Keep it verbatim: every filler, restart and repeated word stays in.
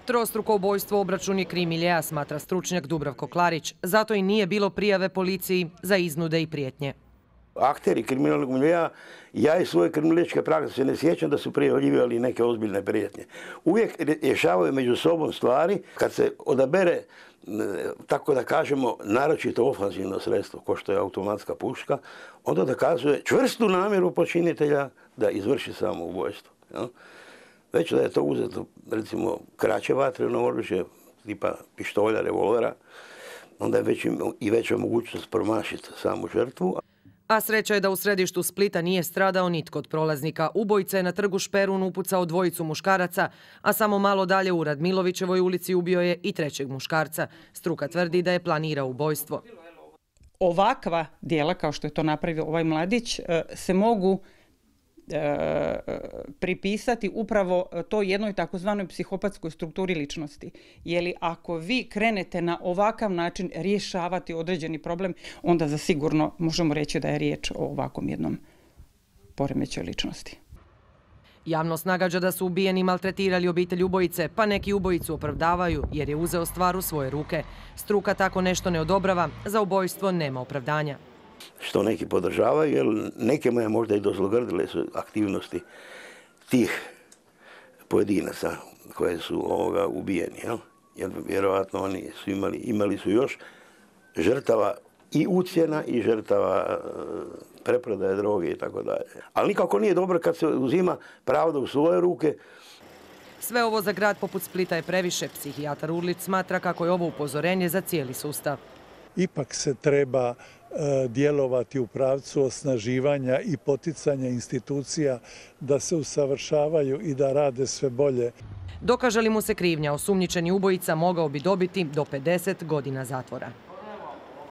Trostruko ubojstvo obračun je krim miljea, smatra stručnjak Dubravko Klarić. Zato i nije bilo prijave policiji za iznude i prijetnje. Akteri kriminalnog miljea, ja iz svoje kriminalističke prakse se ne sjećam da su prijavljivali neke ozbiljne prijetnje. Uvijek rješavaju među sobom stvari kad se odabere, tako da kažemo, naročito ofanzivno sredstvo, ko što je automatska puška, onda dokazuje čvrstu namjeru počinitelja da izvrši samoubojstvo. Već da je to uzeto, recimo, kraće vatreno oružje, tipa pištolja, revolvera, onda je već i veća mogućnost promašiti samu žrtvu. A sreća je da u središtu Splita nije stradao nitko od prolaznika. Ubojica je na trgu Šperun upucao dvojicu muškaraca, a samo malo dalje u Radmilovićevoj ulici ubio je i trećeg muškarca. Struka tvrdi da je planirao ubojstvo. Ovakva djela, kao što je to napravio ovaj mladić, se mogu E, pripisati upravo toj jednoj takozvanoj psihopatskoj strukturi ličnosti. Jer ako vi krenete na ovakav način rješavati određeni problem, onda zasigurno možemo reći da je riječ o ovakvom jednom poremećaju ličnosti. Javnost nagađa da su ubijeni maltretirali obitelj ubojice, pa neki ubojicu opravdavaju jer je uzeo stvar u svoje ruke. Struka tako nešto ne odobrava, za ubojstvo nema opravdanja. Što neki podržavaju, jer nekima je možda i dozlogrdile su aktivnosti tih pojedinaca koje su ovoga ubijeni. Jel? Jer vjerojatno oni su imali, imali su još žrtava i ucjena i žrtava preprodaje droge i tako dalje. Ali nikako nije dobro kad se uzima pravda u svoje ruke. Sve ovo za grad poput Splita je previše. Psihijatar Urlić smatra kako je ovo upozorenje za cijeli sustav. Ipak se treba djelovati u pravcu osnaživanja i poticanja institucija da se usavršavaju i da rade sve bolje. Dokaže li mu se krivnja, osumnjičeni ubojica mogao bi dobiti do pedeset godina zatvora.